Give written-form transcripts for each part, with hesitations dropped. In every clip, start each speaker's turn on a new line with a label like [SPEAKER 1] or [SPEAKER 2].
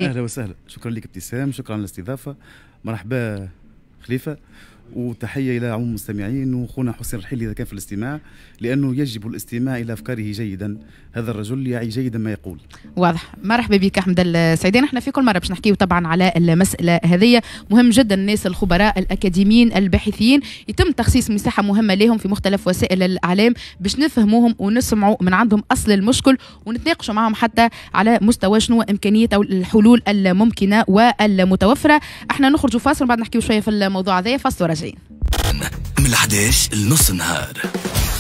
[SPEAKER 1] اهلا وسهلا، شكرا لك ابتسام، شكرا على الاستضافة. مرحبا خليفة، وتحية الى عموم المستمعين وخونا حسين الرحيلي اذا كان في الاستماع، لانه يجب الاستماع الى افكاره جيدا، هذا الرجل يعي جيدا ما يقول.
[SPEAKER 2] واضح. مرحبا بك احمد السعيداني. احنا في كل مرة باش نحكيو طبعا على المسالة هذه، مهم جدا الناس الخبراء الاكاديميين الباحثين يتم تخصيص مساحة مهمة لهم في مختلف وسائل الاعلام باش نفهموهم ونسمعوا من عندهم اصل المشكل ونتناقشوا معهم حتى على مستوى شنو امكانية او الحلول الممكنة والمتوفره. احنا نخرجوا فاصل وبعد نحكيو شوية في الموضوع هذا. فاصل وراجعين.
[SPEAKER 3] من 11 لنص النهار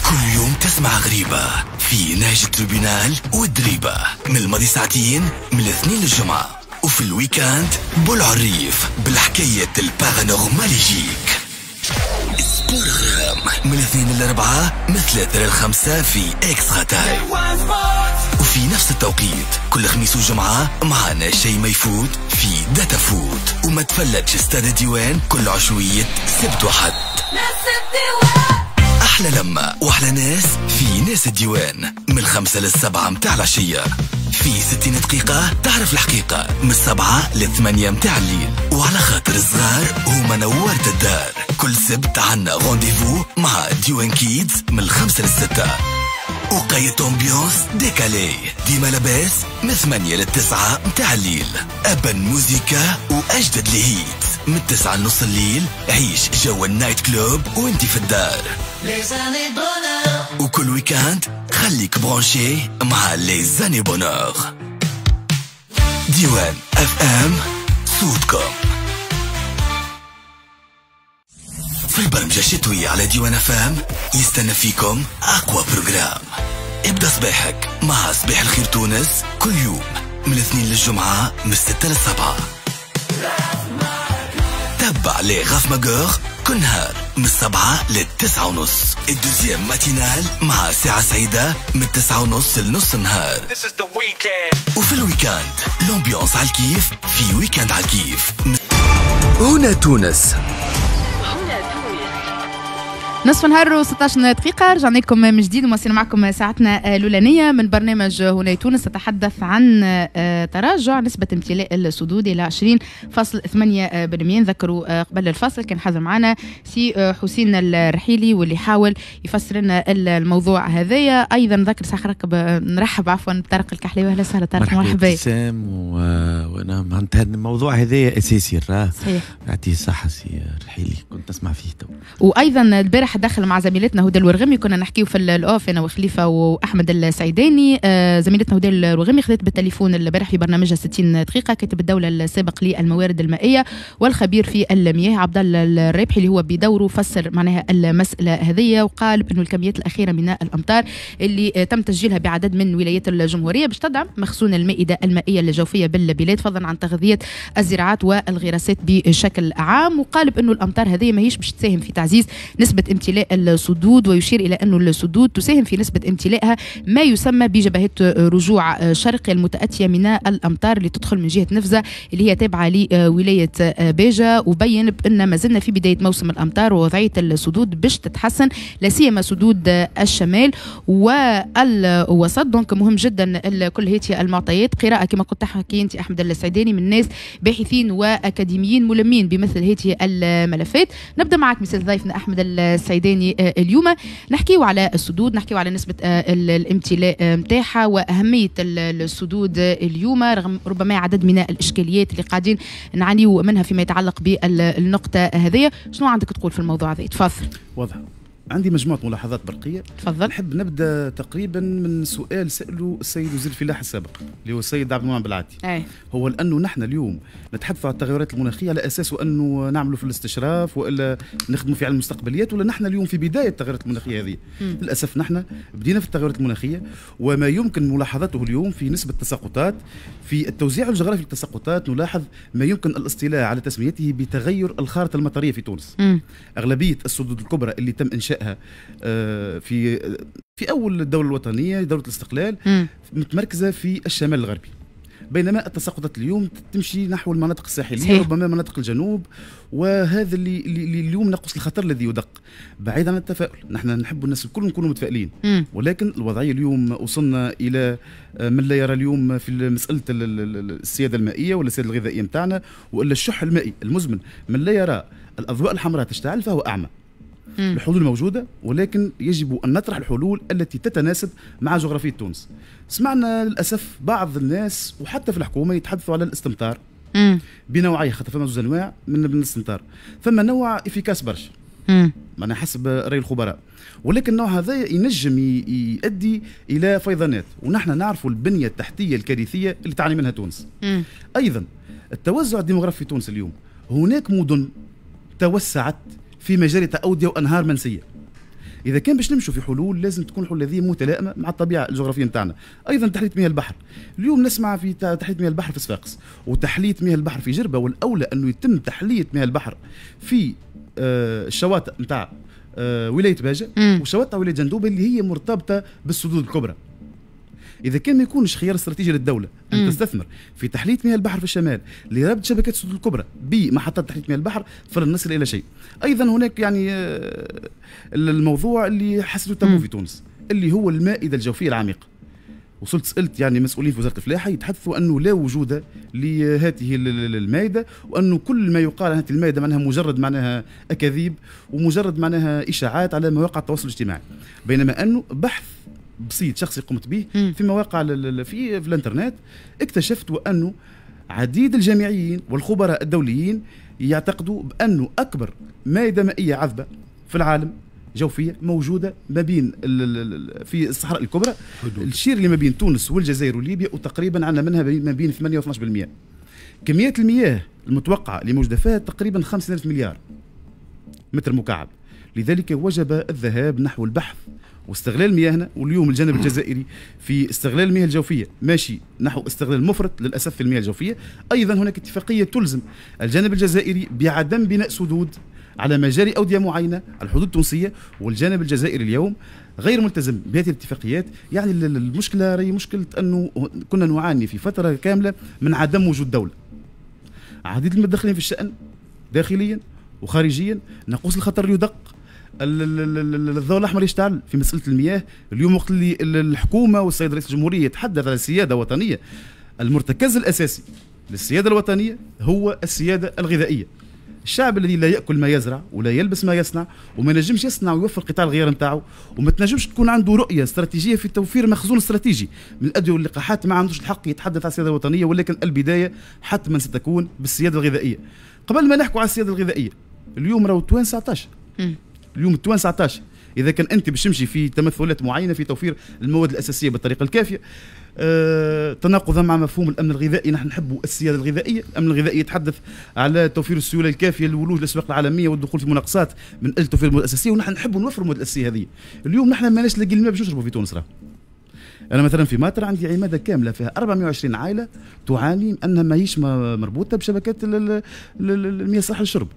[SPEAKER 3] كل يوم تسمع غريبة في نهج ال tribunal والدريبة، من الماضي ساعتين من الاثنين للجمعة، وفي ال week-end بالعريف بالحكاية ال paranormal. sport غرام من الاثنين للأربعة، من 3 ل5 في Extra Time. وفي نفس التوقيت كل خميس وجمعة معنا شيء ما يفوت في داتا فوت، وما تفلتش استاد الديوان كل عشوية سبت وحد. أحلى لمة وأحلى ناس في ناس الديوان من 5 ل7 متاع العشية، في 60 دقيقة تعرف الحقيقة من 7 ل8 متاع الليل. وعلى خاطر الصغار هما نورت الدار، كل سبت عنا rendez-vous مع ديوان Kids من 5 ل6. وقيت ambiance décalée ديما لاباس من 8 ل9 متاع الليل، أبن موزيكا وأجدد les hits من 9 لنص الليل. عيش جو ال night club وانت في الدار، وكل week-end خليك branché مع les années bonheur. ديوان FM صوتكم. في البرمجة الشتوية على ديوان FM يستنى فيكم أقوى programme. ابدأ صباحك مع صباح الخير تونس كل يوم من الاثنين للجمعة من 6 ل7. تبع les Raf Magueur كل نهار من 7 ل9:30. ال deuxième matinale مع ساعة سعيدة من 9:30 لنص النهار. وفي ال week-end l'ambiance على الكيف في week-end على الكيف. هنا تونس.
[SPEAKER 2] نصف نهار و16 دقيقة، رجعنا لكم من جديد ومواصلين معكم ساعتنا الأولانية من برنامج هنا تونس. نتحدث عن تراجع نسبة امتلاء السدود إلى 20.8%. نذكروا قبل الفاصل كان حاضر معنا سي حسين الرحيلي واللي حاول يفسر لنا الموضوع هذايا. أيضا نذكر ساعة نرحب عفوا بطارق الكحلاوي. أهلا وسهلا طارق، مرحبا.
[SPEAKER 4] ابتسام، وانا معناتها الموضوهذا اساسي راه.
[SPEAKER 2] صحيح.
[SPEAKER 4] يعطيه الصحة سي الرحيلي، كنت نسمع فيه تو.
[SPEAKER 2] وايضا البارح دخل مع زميلتنا هدى الورغمي، كنا نحكيو في ال off انا وخليفة واحمد السعيداني. زميلتنا هدى الورغمي خذت بالتليفون البارح في برنامجها 60 دقيقة كاتب الدولة السابق للموارد المائية والخبير في المياه عبد الله الرابحي، اللي هو بدوره فسر معناها المسالة هذه وقال بانه الكميات الاخيرة من الامطار اللي تم تسجيلها بعدد من ولايات الجمهورية باش تدعم مخزون المائدة المائية الجوفيه بالبلاد، فضلا عن تغذية الزراعات والغراسات بشكل عام. وقال بانه الامطار هذه ماهيش باش تساهم في تعزيز نسبه امتلاء السدود، ويشير الى أن السدود تساهم في نسبه امتلائها ما يسمى بجبهات رجوع شرقي المتاتيه من الامطار اللي تدخل من جهة نفزه اللي هي تابعه لولاية باجه. وبين بان ما زلنا في بداية موسم الامطار ووضعيه السدود باش تتحسن، لا سيما سدود الشمال والوسط. donc مهم جدا كل هذه المعطيات، قراءة كما كنت تحكي انت احمد السعيداني من ناس باحثين واكاديميين ملمين بمثل هذه الملفات. نبدا معك مثل ضيفنا احمد السعيداني اليوم نحكيو على السدود، نحكيو على نسبه الامتلاء نتاعها واهمية السدود اليوم، رغم ربما عدد من الاشكاليات اللي قاعدين نعانيو منها فيما يتعلق بالنقطة هذه. شنو عندك تقول في الموضوع هذا؟ تفضل.
[SPEAKER 1] واضح، عندي مجموعة ملاحظات برقية.
[SPEAKER 2] تفضل.
[SPEAKER 1] نحب نبدأ تقريبا من سؤال سأله السيد وزير الفلاحة السابق اللي هو السيد عبد المنعم بالعاتي. هو لأنه نحن اليوم نتحدث عن التغيرات المناخية على أساس أنه نعملوا في الاستشراف وإلا نخدموا في علم المستقبليات، ولا نحن اليوم في بداية التغيرات المناخية هذه. للأسف نحن بدينا في التغيرات المناخية، وما يمكن ملاحظته اليوم في نسبة التساقطات في التوزيع الجغرافي للتساقطات، نلاحظ ما يمكن الاصطلاح على تسميته بتغير الخارطة المطرية في تونس. أغلبية السدود الكبرى اللي تم إنشائها في اول الدولة الوطنية، دولة الاستقلال، متمركزه في الشمال الغربي. بينما التساقطات اليوم تمشي نحو المناطق الساحلية. صحيح. ربما مناطق الجنوب، وهذا اللي اليوم نقص الخطر الذي يدق. بعيد عن التفاؤل، نحن نحب الناس الكل نكونوا متفائلين، ولكن الوضعية اليوم وصلنا الى من لا يرى اليوم في مسالة السيادة المائية ولا السيادة الغذائية نتاعنا والا الشح المائي المزمن، من لا يرى الاضواء الحمراء تشتعل فهو اعمى. الحلول موجودة، ولكن يجب أن نطرح الحلول التي تتناسب مع جغرافية تونس. سمعنا للأسف بعض الناس وحتى في الحكومة يتحدثوا على الاستمطار بنوعيه، خاطر فما زوج أنواع من الاستمطار. فما نوع efficace برشا معناها حسب رأي الخبراء، ولكن النوع هذا ينجم يؤدي إلى فيضانات، ونحن نعرف البنية التحتية الكارثية اللي تعاني منها تونس. أيضا التوزع الديموغرافي في تونس اليوم، هناك مدن توسعت في مجاري أودية وأنهار منسية. إذا كان باش نمشوا في حلول لازم تكون الحلول هذه متلائمة مع الطبيعة الجغرافية نتاعنا. أيضا تحلية مياه البحر، اليوم نسمع في تحلية مياه البحر في صفاقس وتحلية مياه البحر في جربة، والأولى أنه يتم تحلية مياه البحر في الشواطئ نتاع ولاية باجة وشواطئ ولاية جندوبة اللي هي مرتبطة بالسدود الكبرى. إذا كان ما يكونش خيار استراتيجي للدولة أن تستثمر في تحلية مياه البحر في الشمال لربط شبكات السدود الكبرى بمحطات تحلية مياه البحر فلن نصل إلى شيء. أيضا هناك يعني الموضوع اللي حسيته تابو في تونس اللي هو المائدة الجوفية العميقة. وصلت سألت يعني مسؤولين في وزارة الفلاحة يتحدثوا أنه لا وجود لهذه المائدة، وأنه كل ما يقال عن هذه المائدة معناها مجرد معناها أكاذيب ومجرد معناها إشاعات على مواقع التواصل الاجتماعي، بينما أنه بحث بسيط شخصي قمت به في مواقع في الانترنت اكتشفت وأنه عديد الجامعيين والخبراء الدوليين يعتقدوا بأنه أكبر مائدة مائية عذبة في العالم جوفية موجودة ما بين في الصحراء الكبرى، الشير اللي ما بين تونس والجزائر وليبيا، وتقريبا عندنا منها ما بين 8 و 12%. كمية المياه المتوقعة اللي موجودة فيها تقريبا 50,000 مليار متر مكعب. لذلك وجب الذهاب نحو البحث واستغلال مياهنا. واليوم الجانب الجزائري في استغلال المياه الجوفية ماشي نحو استغلال مفرط للأسف في المياه الجوفية. أيضا هناك اتفاقية تلزم الجانب الجزائري بعدم بناء سدود على مجاري أودية معينة على الحدود التونسية، والجانب الجزائري اليوم غير ملتزم بهذه الاتفاقيات. يعني المشكلة هي مشكلة أنه كنا نعاني في فترة كاملة من عدم وجود دولة. عديد المتدخلين في الشأن داخليا وخارجيا، ناقوس الخطر يدق، الضوء الاحمر يشتعل في مسالة المياه. اليوم وقت اللي الحكومة والسيد رئيس الجمهورية يتحدث على السيادة الوطنية، المرتكز الاساسي للسياده الوطنية هو السيادة الغذائية. الشعب الذي لا ياكل ما يزرع ولا يلبس ما يصنع وما ينجمش يصنع ويوفر قطاع الغيار نتاعو، وما تنجمش تكون عنده رؤية استراتيجية في توفير مخزون استراتيجي من الادوية واللقاحات، ما عندوش الحق يتحدث على السيادة الوطنية. ولكن البداية حتما ستكون بالسياده الغذائية. قبل ما نحكوا على السيادة الغذائية، اليوم راهو التوانسة 19، اليوم التوانسة 19. اذا كان انت باش تمشي في تمثلات معينة في توفير المواد الاساسية بالطريقة الكافيه، تناقضا مع مفهوم الامن الغذائي، نحن نحب السيادة الغذائية. الامن الغذائي يتحدث على توفير السيولة الكافيه للولوج للاسواق العالمية والدخول في مناقصات من اجل توفير المواد الاساسية، ونحن نحب نوفر المواد الاساسية هذه. اليوم نحن ماناش لاقيين الماء باش نشربوا في تونس. راه انا مثلا في ماتر عندي عماده كاملة فيها 420 عائلة تعاني انها ماهيش مربوطة بشبكات المياه الصالحة للشرب.